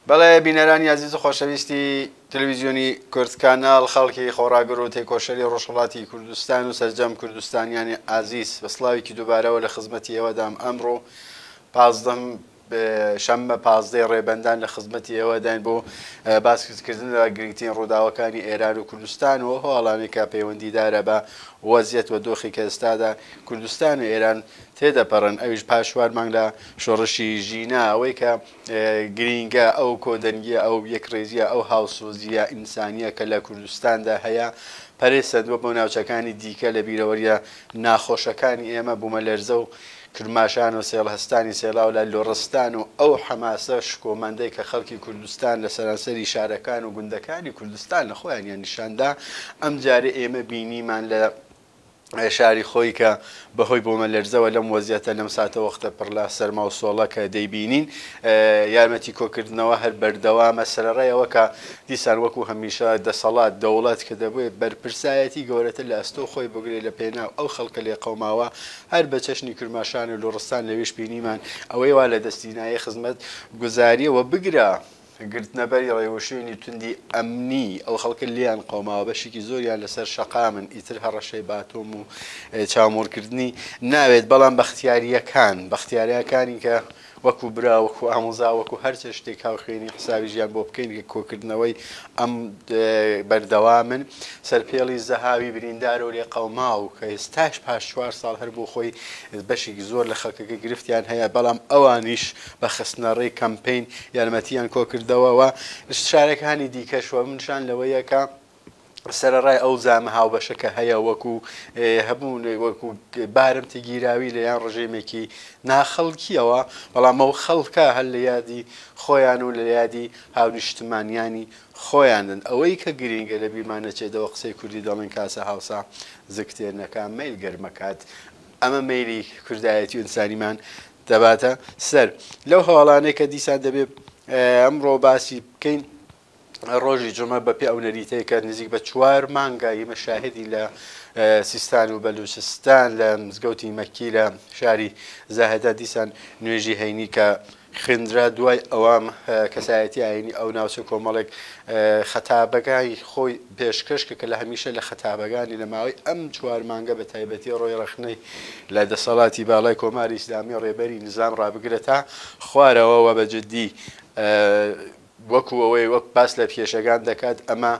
بەڵێ بینەرانی ئازیز و خۆشەویستی تەلەویزیۆنی کورد کاناڵ، خەڵکی خۆڕاگر و تێکۆشەری ڕۆژهەڵاتی کوردستان و سەرجەم کوردستانیانی ئازیز، بە سڵاوێکی دووبارەوە لە خزمەتی ئێوەدام. ئەمڕۆ 15 شەممە 15ی ڕێبەندان لە خزمەتی ئێوەداین بۆ باسکردن لە گرنگترین ڕووداوەکانی ئێران و کوردستان و هەواڵانێک کە پەیوەندیدارە بە وەزیەت و دۆخی کە ئێستادا کوردستان و ئێران تێدەپەڕن، ئەویش پاش چوار مانگ لە شۆڕشی ژینا. ئەوەی کە گرینگە ئەو کۆدەنگیە، ئەو یەکڕیزیە، ئەو هاوسۆزیە ئینسانیە کە لە کوردستاندا هەیە پەرەی سەندووە بۆ ناوچەکانی دیکە. لە بیرەوەریە ناخۆشەکانی ئێمە بوومەلەرزە و کرماشان و سێڵهەستانی سێلاو لە لوڕستان و ئەو حەماسە شکۆمەندەی کە خەڵکی کوردستان لە سەرانسەری شارەکان و گوندەکانی کوردستان لە خۆیانیان نیشاندا، ئەمجارە ئێمە بینیمان لە شاری خۆی کە بەهۆی بۆمەلەرزەوە لەم وەزیەتە لەم ساتەوەختە پڕ لە سەرما و سۆڵە کە دەیبینین یارمەتی کۆکردنەوە هەر بەردەوامە، سەرەڕای ئەوە کە دیسان وەکو هەمیشە دەسەڵات دەوڵەت کە دەبێت بەرپرسایەتی گەورەتر لە ئەستۆ خۆی بگرێت لە پێناو ئەو خەڵکە لێقەوماوە، هەر بە چەشنی کرماشان و لوڕستان لەوێش بینیمان ئەوەی وا لە دەستی نایە خزمەت گوزاریەوە بگرە گرتنەبەری ڕێوشوێنی توندی ئەمنی، ئەو خەڵکە لێیان قەوماوە بەشێکی زۆریان لەسەر شەقامن، ئیتر هەڕەشەی باتۆم و چاومۆرکردنی ناوێت، بەڵام بەختیارییەکان، بەختیارییەکانی کە وەکو برا، وەکو ئامۆزا، وەکو هەر چ شتێک هاوخوێنی حسابی ژیان بۆ بکەین کە کۆکردنەوەی ئەم بەردەوامن. سەرپێڵی زەهاوی بریندار و لێقەوماو کە ئێستاش پاش 4 ساڵ هەر بۆ خۆی بەشێکی زۆر لە خەڵکەکە گرفتیان هەیە، بەڵام ئەوانیش بە خستنەڕێی کەمپەین یارمەتیان کۆکردەوە و شارەکانی دیکەش و منشان لەوەیە کە سەرەڕای ئەو زامە هاوبەشە کە هەیە وەکو هەبوون وەکو بارمتە گیراوی لە یان ڕژێمێکی ناخەڵکیەوە، بەڵام ئەو خەڵکە هەر لە یادی خۆیان و لە یادی هاونیشتمانیانی خۆیانن. ئەوەی کە گرینگە لە بیرمان نەچێتەوە قسەی کوردی دەڵێن کاسە هاوسا زگتێر نەکا مەیل گەرمەکات، ئەمە مەیلی کوردایەتی و ئینسانیمان دەباتە سەر. لەو هەواڵانەی کە دیسان دەبێت ئەمڕۆ باسی بکەین، ڕۆژی جمعە بە پێ ئەو نەریتەیە کە نزیک بە 4 مانگە ئێمە شاهدی لە سیستان و بەلوچستان لە مزگەوتی مەکی لە شاری زاهدە دیسان نوێژی هەینی کە خوێندرا، دوای ئەوام کەسایەتی ئاینی ئەو ناوچە کۆمەڵێک خەتابەکانی خۆی پێشکەش کە لە هەمیشە لە خەتابەکانی لە ماوەی ئەم 4 مانگە بە تایبەتی ڕۆی ڕەخنەی لە دەسەڵاتی باڵای کۆماری ئیسلامی ڕێبەری نظام ڕابگرە تا خوارەوە و بە جدی وەکو ئەوەی وەک باس لە کێشەکان دەکات، ئەمە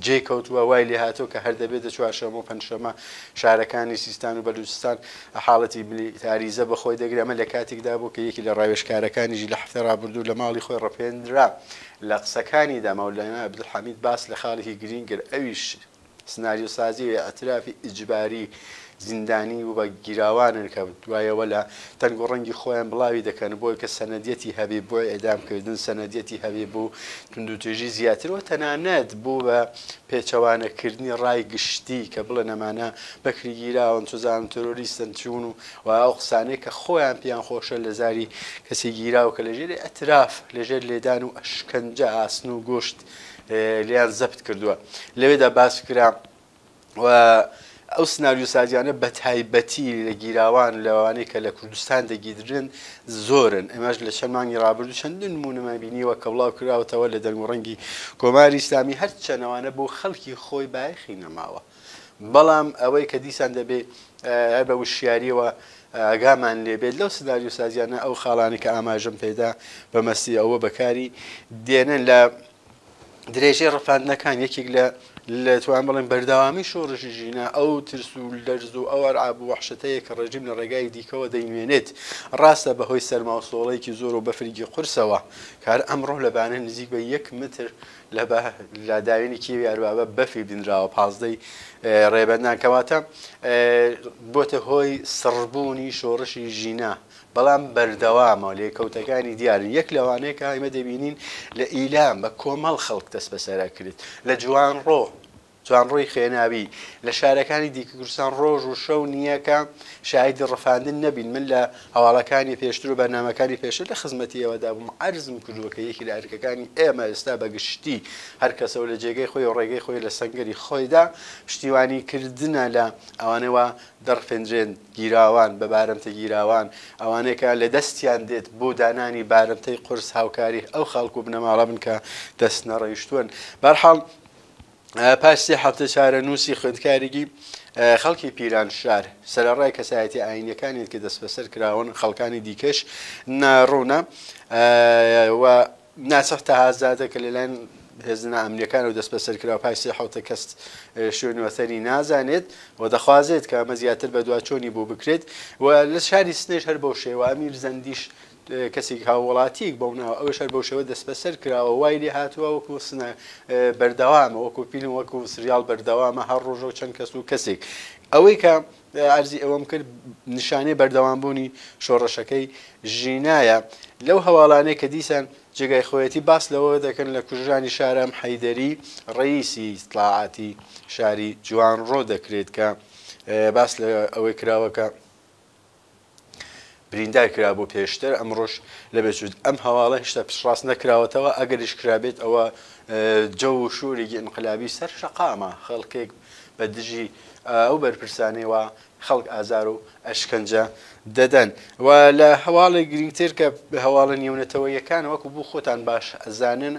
جێ کەوتووە وای لێهاتووە کە هەر دەبێتە چوارشەممە و پەنجشەممە شارەکانی سیستان و بەلوچستان حاڵەتی میلیتاریزە بەخۆی دەگرێت. ئەمە لە کاتێکدا بوو کە یەکی لە ڕاوێژکارەکانیشی لە هەفتەی ڕابردوو لە ماڵی خۆی ڕەپێنرا. لە قسەکانیدا مەولانا عەبدولحەمید باس لە خاڵێکی گرینگ کرد، ئەویش سناریۆسازی و ئیعترافی ئیجباری زیندانی و بە گیراوانن کە دوایەوە لە تەنگ و ڕەنگی خۆیان بڵاوی دەکەن بۆی کە سەنەدیەتی هەبێ بۆ ئێدامکردن، سەنەدیەتی هەبێ بۆ توندوتیژی زیاتر و تەنانەت بۆ بە پێچەوانەکردنی ڕای گشتی کە بڵێن ئەمانە بەکری گیراون، چزانم ترۆریستن، چوون و ئەو قسانەی کە خۆیان پێیان خۆشە لە زاری کەسی گیراو کە لەژێر ئیعتراف، لەژێر لێدان و ئەشکەنجە ئاسن و گۆشت لێیان زەبت کردووە. لەوێدا باس کرا و ئەو سناریۆسازیانە بە تایبەتی لە گیراوان لەوانەی کە لە کوردستان دەگیرن زۆرن. ئێمەش لە چەند مانگی ڕابردوو چەند نموونەمان بینیوە کە بڵاو کراوەتەوە لە دەنگ و ڕەنگی کۆماری ئیسلامی، هەرچەنەوانە بۆ خەڵکی خۆی بایەخی نەماوە، بەڵام ئەوەی کە دیسان دەبێ هەر بە وشیاریەوە ئاگامان لێبێت لەو سناریۆسازیانە، ئەو خاڵانەی کە ئاماژەم پێدا بە مەستی ئەوە بەکاری دێنن لە درێژەی ڕفاندنەکان. یەکێک لە توان بڵێن بەردەوامی شۆڕشی ژینا ئەو ترس و لەرز و ئەو ئەرعاب و وەحشەتەیە کە ڕێژیم لە ڕێگای دیکەوە دەینوێنێت. ڕاستە بەهۆی سەرما و سۆڵەیەکی زۆر و بەفرێکی قورسەوە کار ئەمڕۆ لە بانە نزیک بە 1 متر لە داوێنی کێوی ئەربابە بەفری بینراوە 15 ڕێبەندان، کەواتە بۆتە هۆی سڕبوونی شۆڕشی ژینا، بەڵام بەردەوامە لێکەوتەکانی دیارن. یەک لەوانەیە کە ئێمە دەبینین لە ئیلام بە کۆمەڵ خەڵک دەست بەسەرا کرد، لە جوانڕۆ جوانڕۆی خوێناوی، لە شارەکانی دیکەی کوردستان ڕۆژ و شەو نییە کە شاهیدی ڕفاندن نەبین، من لە هەواڵەکانی پێشتر و بەرنامەکانی پێشتر لە خزمەتی ئێوەدا بووم عەرزم کردووە کە یەکی لە ئەرکەکانی ئێمە ئێستا بە گشتی هەر کەسە و لە جێگەی خۆی و ڕێگەی خۆی لە سەنگەری خۆیدا پشتیوانی کردنە لە ئەوانەی وا دەڕفێندرێن، گیراوان، بە بارمتە گیراوان، ئەوانەی کە لە دەستیان دێت بۆ دانانی بارمتەی قورس هاوکاری ئەو خەڵک و بنەماڵە بن کە دەست نەڕەیشتوون. بەرحاڵ پاش سێ هەفتە چارەنووسی خوێندکارێکی خەڵکی پیرانشار، سەرەڕای کەسایەتیە ئایینیەکانی کە دەستبەسەر کراون، خەڵکانی دیکەش ناڕوونە و ناسح تەهازادە کە لەلایەن هێزە نائەمنیەکانەوە دەستبەسەر کرا و پاش سێ حەوتە کەس شوێن وەتەنی نازانێت و دەخوازێت کە ئەمە زیاتر بەدواچۆنی بۆ بکرێت و لە شاری سنەش هەر بەو شێوە ئەمیر زەندیش کەسێک هاووڵاتییەک بەو ناوە ئەویش هەر بەو شێوە دەستبەسەر کراوە وای لێ هاتووە وەکو سنە بەردەوامە وەکو فیلم وەکو سریاڵ بەردەوامە هەر ڕۆژە و چەند کەس و کەسێک ئەوەی کە عەرزی ئەوەم کرد نیشانەی بەردەوامبوونی شۆڕشەکەی ژینایە لەو هەواڵانەی کە دیسان جێگای خۆیەتی باس لەوە دەکەن لە کوژرانی شارام حەیدەری ڕەئیسی ئیتڵاعاتی شاری جوانڕۆ دەکرێت کە باس لە ئەوەی کراوە کە بریندار کرابوو پێشتر ئەمڕۆش لە بێچوت ئەم هەواڵە هێشتا پشتڕاست نەکراوەتەوە ئەگەریش کرابێت ئەوە جەو و شورێکی ئینقلابی سەر شەقامە خەڵکێک بە دژی ئەو بەرپرسانەی وا خەڵک ئازار و ئەشکەنجە دەدەن و لە هەواڵێک گرنگتر کە هەواڵە نێونەتەوەیەکان وەکو بوو خۆتان باش ئەزانن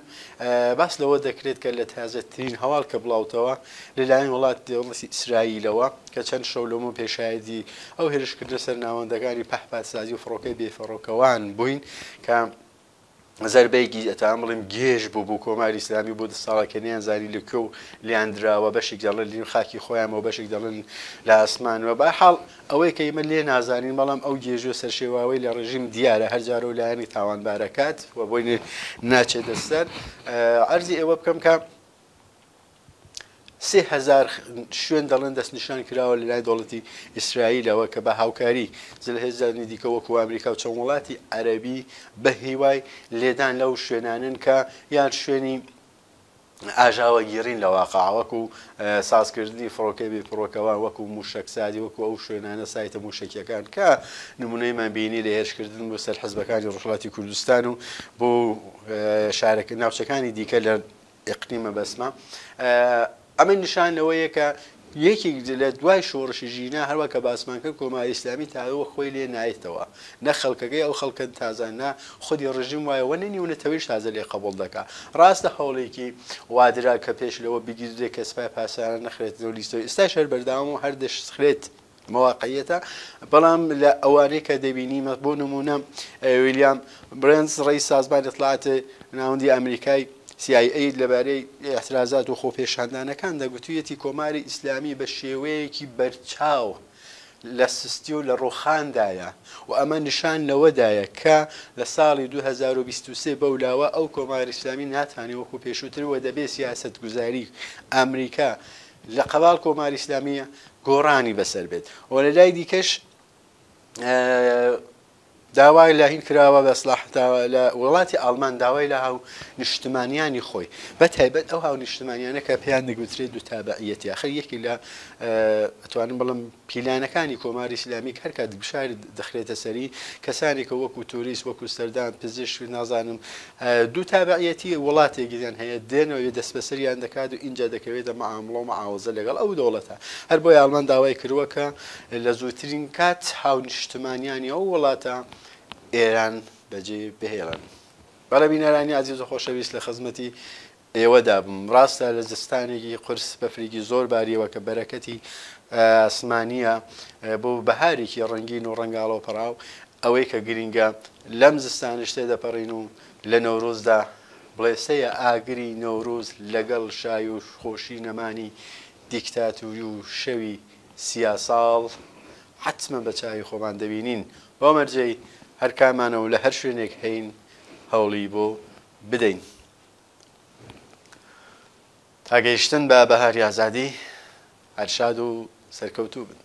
باس لەوە دەکرێت کە لە تازەترین هەواڵ کە بڵاوتەوە لەلایەن وڵات دەوڵەتی ئیسرائیلەوە کە چەند شەو لەمەو پێش شایەدی ئەو هێرشکردنە سەر ناوەندەکانی پەهپادسازی و فڕۆکەی بێفڕۆکەوان بووین کە زەربەیەکی ئەتوانم بڵێم گێژ بوو بۆ کۆماری ئیسلامی بۆ ده ساڵە کە نەیانزانی لە کوێ و لێیان دراوە بەشێک دەڵێن لە خاکی خۆیانەوە بەشێک دەڵێن لە ئاسمانەوە بە حاڵ ئەوەی کە ئێمە لێ نازانین بەڵام ئەو گێژی و سەرشێواوەی لە ڕژیم دیارە هەر جارە و لایەنی تاوانبارەکات و بۆی ناچێتە سەر عەرزی ئێوە بکەم کە 3000 شوێن دەڵێن دەستنیشان کراوە لەلای دەوڵەتی ئیسرائیلەوە کە بە هاوکاری زلهێزانی دیکە وەکو ئەمریکا و چەند وڵاتی عەرەبی بە هیوای لێدان لەو شوێنانن کە یان شوێنی ئاژاوەگیڕین لە واقع وەکو سازکردنی فڕۆکەی بێ فڕۆکەوان وەکو موشەکسازی وەکو ئەو شوێنانە سایتە موشەکیەکان کە نمونەیمان بینی لە هێرشکردن بۆ سەر حزبەکانی ڕۆژهەڵاتی کوردستان و بۆ شارەکە ناوچەکانی دیکە لە ئیقلیمە بەسمە ئەمە نیشان لەوەیە کە یەکێک لە دوای شۆڕشی ژینا هەروە کە باسمان کرد کۆماری ئیسلامی تاوە خۆی لێ نایتەوە نە خەڵکەکەی ئەو خەڵکە تازە نە خودی ڕژیم وایە وە نە نیونەتەوەیش تازە لێ قبوڵ دەکا ڕاستە هەوڵێکی وادرا کە پێش لەوە بگیردرێ کە سپای پاسداران نەخرێتەوە لیستەوە ئێستاش هەر بەردەوام و هەر دەشخرێت ئەمە واقعیەتە بەڵام لە ئەوانەی کە دەبینی بۆ نمونە ویلیام برێنز ڕێی سازمانی اطلاعات ناوەندی ئەمریکای CIA لەبارەی اعترازات و خۆپێشاندانەکان دەگوتویەتی کۆماری ئیسلامی بە شێوەیەکی بەرچاو لە سستی و لە ڕوخاندایە و ئەمە نیشان لەوەدایە کە لە ساڵی 2023 بەولاوە ئەو کۆماری ئیسلامی ناتوانێت وەکو پێشووتر و دەبێ سیاسەتگوزاری ئەمریکا لە قەباڵ کۆماری ئیسلامی گۆڕانی بەسەر بێت و لە لای دیکەش داوای لە هین کراوە بە سڵاح لە وڵاتی ئاڵمان داوای لە هاو نیشتمانیانی خۆی بە تایبەت ئەو هاو نیشتمانیانە کە پێیان دەگوترێت دوو تابعیەتی آخر یەکی لە ئەتوانم بڵم پیلانەکانی کۆماری ئیسلامی هەر کات گوشار دەخرێتە سەری کەسانی کە وەکو توریست وەکو سەردان پزیشک نازانم دوو تابعیەتی وڵاتێکیان هەیە دێنەوە دەستبەسەریان دەکات و ئینجا دەکەوێتە معامڵە و معاوەزە لەگەڵ ئەو دەوڵەتە هەر بۆیە ئاڵمان داوای کردووە کە لە زووترین کات هاونیشتمانیانی ئەو وڵاتە ئێران بەجێ بهێڵن. بەڵێ بینەرانی ئازیز و خۆشەویست لە خزمەتی ئێوەدا بووم. ڕاستە لە زستانێکی قورس بەفرێکی زۆر باریەوە کە بەرەکەتی ئاسمانییە بۆ بەهارێکی ڕەنگین و ڕەنگاڵە و پەڕاو، ئەوەی کە گرینگە لەم زستانەش تێدەپەڕین و لە نەورۆزدا بڵێسەیە ئاگری نەورۆز لەگەڵ شای و خۆشی نەمانی دیکتاتوری و شەوی سیاساڵ حەتمەن بە چاوی خۆمان دەبینین بەو مەرجەی هەرکامانە و لە هەر شوێنێک هەین هەوڵی بۆ بدەین. تا گەیشتن بە بەهاری ئازادی هەر شاد و سەرکەوتوو بن.